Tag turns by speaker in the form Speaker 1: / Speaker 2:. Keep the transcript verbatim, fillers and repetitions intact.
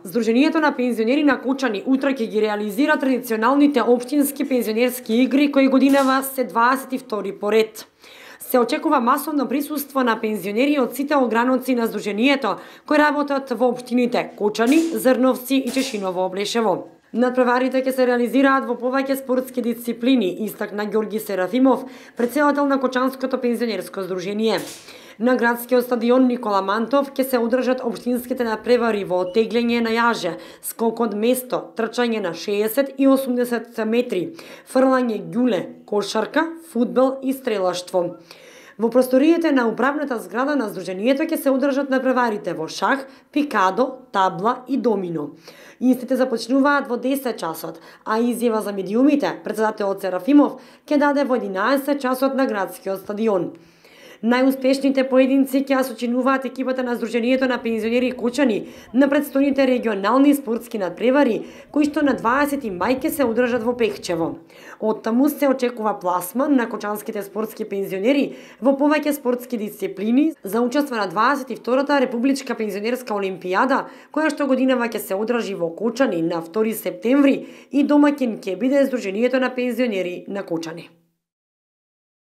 Speaker 1: Сдруженијето на пензионери на Кучани утре ќе ги реализира традиционалните општински пензионерски игри кои годинава се дваесет и втори поред. Се очекува масовно присуство на пензионери од сите ограноци на Сдруженијето кои работат во општините Кучани, Зрновци и Чешиново Облешево. Надпреварите ќе се реализираат во повеќе спортски дисциплини, истакна Ѓорги Серафимов, председател на Кочанското пензионерско здружение. На градскиот стадион Никола Мантов ќе се одржат општинските надпревари во оттеглење на јаже, скок од место, трчање на шеесет и осумдесет метри, фрлање ѓуле, кошарка, фудбал и стрелаштво. Во просториите на управната зграда на Сдруженијето ќе се одржат надпреварите во шах, пикадо, табла и домино. Истите започнуваат во десет часот, а изјава за медиумите председателот Серафимов ќе даде во единаесет часот на градскиот стадион. Најуспешните поединци ќе сочинуваат екипата на Сдруженијето на пензионери Кучани на предстојните регионални спортски надпревари, кои што на дваесети мај ќе се одржат во Пехчево. Од таму се очекува пласман на кочанските спортски пензионери во повеќе спортски дисциплини за учество на дваесет и втората републичка пензионерска олимпијада, која што годинава ќе се одржи во Кучани на втори септември и домаќин ќе биде Сдруженијето на пензионери на Кучани.